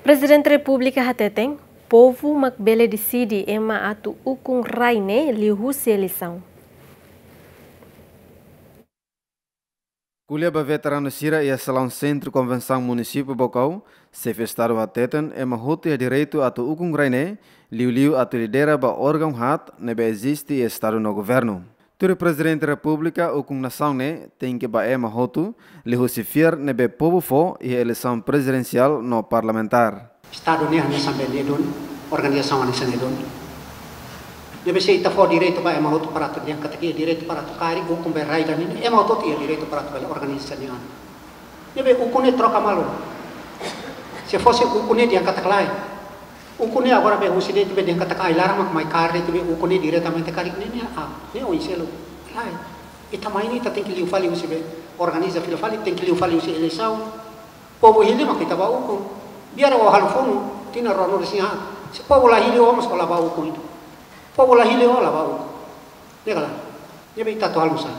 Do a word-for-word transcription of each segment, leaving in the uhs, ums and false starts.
Prezidente Repúblika hateten, povu mak bele deside ema atu ukun rai ne'e liuhusi eleisaun. Ko'alia ba veteranu sira iha salaun Sentru Konvensaun Munisípiu Baucau, Xefe Estadu hateten ema hotu iha direitu atu ukun rai ne'e, liuliu atu lidera ba órgaun haat ne'ebé eziste iha Estadu no Governu. Tuir Prezidente Repúblika, ukun nasaun ne'e tenke ba ema hotu, liuhusi fiar ne'ebé povu fó iha eleisaun prezidensiál no parlamentár. Estadu ne'e hanesan be ne'e duni, organizasaun hanesan ne'e duni. Ne'ebé se ita fó direitu ba ema hotu para atu dehan katak iha direitu para atu kaer ukun be rai ida-ne'e, ema hotu iha direitu para atu bele organiza nia an. Ne'ebé ukun ne'e troka malu. Se fosse ukun ne'e dehan katak lae. Ukun ne'e agora be husi de'it be dehan katak ai-laran mak mai kaer de'it be ukun ne'e diretamente karik ne'e, ne'e, ah, ne'e oin seluk. Lae. Ita mai ne'e ita tenke liu fali husi be organiza fila fali, tenke liu fali husi eleisaun. Povu hili mak ita bá ukun. Biar ó halo funu, tinan ruanulu-resin-haat. Se povu la hili ó mós ó la bá ukun. Povu la hili ó la bá ukun. Ne'e ka lae? Ne'ebé ita atu halo nusá?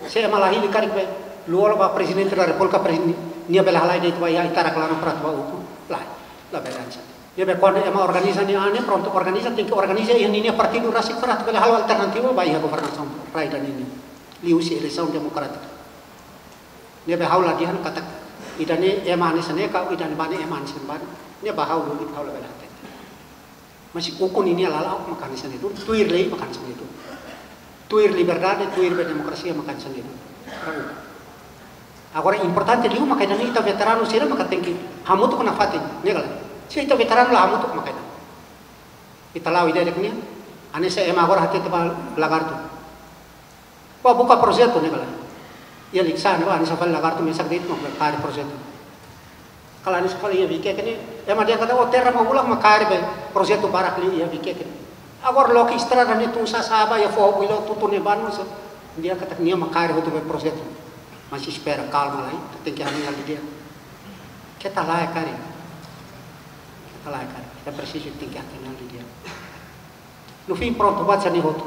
Se ema la hili karik be, liu ó la bá Prezidente da Repúblika, prezi-, nia bele halai de'it ba iha ita-nia klaran para atu bá ukun. Lae, labele hanesan. Ne'ebé kuandu ema organiza nia an ne'e, prontu organiza, tenke organiza iha ninia partidu rasik para atu bele halo alternativa ba iha governasaun rai ida-ne'e nian. Liuhusi eleisaun demokrátika. Ne'ebé ha'u la dehan katak ida-ne'e ema hanesan ne'e ka ida-ne'ebá ne'e ema hanesan ne'ebá. Ne'ebá ha'u lubuk ha'u labele hatete. Mas ukun ninia lala'ok mak hanesan ne'e duni, tuir lei mak hanesan ne'e duni. Tuir liberdade, tuir be demokrasia mak hanesan ne'e duni. Agora importante liu maka ida-ne'e ita veteranu sira maka tenke hamutuk nafatin, ne'e ka lae? Se ita veteranu la hamutuk maka ida-ne'e. Ita la'o ida de'it nian, hanesan ema agora hatete ba lagartu. Bá buka projetu ne'e ka lae. Iha Likisá ne'e bá hanesan fali lagartu mesak de'it mak kaer projetu. Kala hanesan fali iha Viqueque ne'e, ema dehan katak ó terra mak ulak mak kaer be projetu barak liu iha Viqueque ne'e. Agora loke estrada ne'e tun sasaba iha foho Builo tutu ne'ebá mós. Dehan katak nia mak kaer hotu be projetu. Mas espera, kalma lai, tenke hanoin hal didi'ak. Keta lae karik. Keta lae karik. Ita presiza tenke hanoin hal didi'ak. No fim, prontu, buat hanesan ne'e hotu.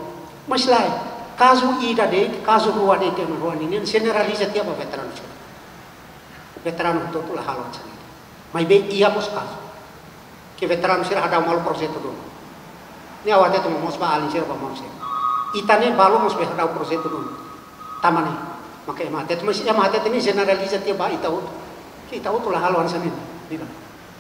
Mas lae, kazu ida de'it, kazu rua de'it, ema rua ne'e, ne'e jeneraliza tiha ba veteranu sira. Veteranu hotu-hotu la halo hanesan ne'e. Maibé iha mós kazu. Ke veteranu sira hadau malu projetu duni. Ne'e ha'u hatete mós ba alin sira ba maun sira. Ita ne'e balu mós be hadau projetu duni. Tanba ne'e, maka ema hatete, mas ema hatete ne'e jeneraliza tiha ba ita hotu. Ke ita hotu la halo hanesan ne'e. Ne'e ka lae?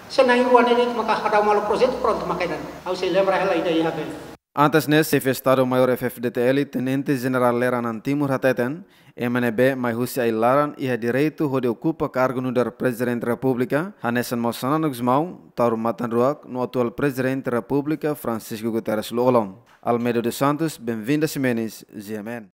Se na'in-rua ne'e de'it maka hadau malu projetu prontu maka ida-ne'e. Ha'u sei lembra hela ida iha be. Antes ne'e, Xefe Estadu Maiór F-FDTL, Tenente Jenerál Lera Naan Timur hateten, ema ne'ebé mai husi ai-laran iha direitu hodi okupa kargu nu'udar Prezidente Repúblika, hanesan maun Xanana Gusmão, Taur Matan Ruak, no atuál Prezidente Repúblika, Francisco Guterres Lú-Olo. Almeida dos Santos, Benvinda Ximenes, G M N.